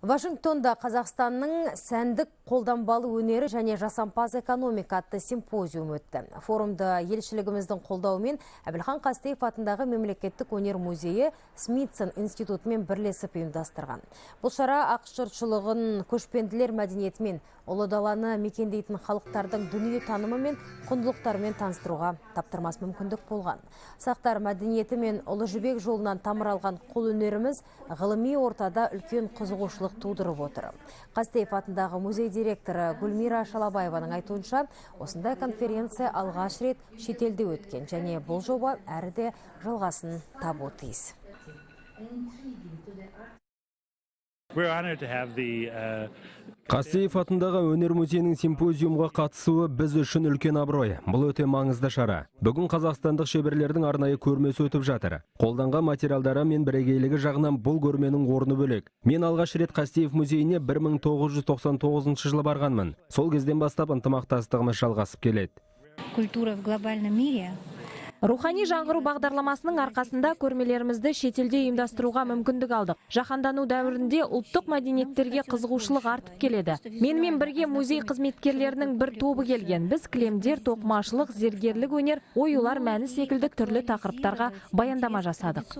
Вашингтонда Қазақстанның сәндік қолданбалы өнері және жасампаз экономика атты симпозиум өтті. Форумды елшілігіміздің қолдауымен Әбілхан Қастеев атындағы мемлекеттік өнер музейі Смитсон институтымен бірлесіп ұйымдастырған. Бұл шара ақш жұртшылығын көшпенділер мәдениетімен, ұлы даланы мекендейтін халықтардың дүние танымы мен құндылықтарымен таныстыруға таптырмас мүмкіндік болған. Сақтар мәдениеті мен ұлы жібек жолынан тамыр алған қол өнеріміз ғылыми ортада үлкен қызығушылық тудырып отыр. Қастеев атындағы музей директоры Гүлмира Шалабаеваның айтуынша, осындай конференция алғаш рет шетелде өткен және бұл жоба әрі де жалғасын табуы тиіс. Қастеев атындағы өнер музейінің симпозиумға қатысуы біз үшін үлкен абырой. Бұл өте маңызды шара. Бүгін қазақстандық шеберлердің арнайы көрмесі өтіп жатыр. Қолданған материалдары мен бірегейлігі жағынан бұл көрменің орны бөлек. Мен алғаш рет Қастеев музейіне 1999 жылы барғанмын. Сол кезден бастап ынтымақтастығымыз жалғасып келеді. Культура в глобальном мире. Рухани жаңғыру бағдарламасының арқасында көрмелерімізді шетелде ұйымдастыруға мүмкіндік алдық. Жаһандану дәуірінде ұлттық мәдениеттерге қызығушылық артып келеді. Менімен бірге музей қызметкерлерінің бір тобы келген. Біз кілемдер, тоқымашылық, зергерлік өнер, оюлар мәні секілді түрлі тақырыптарға баяндама жасадық.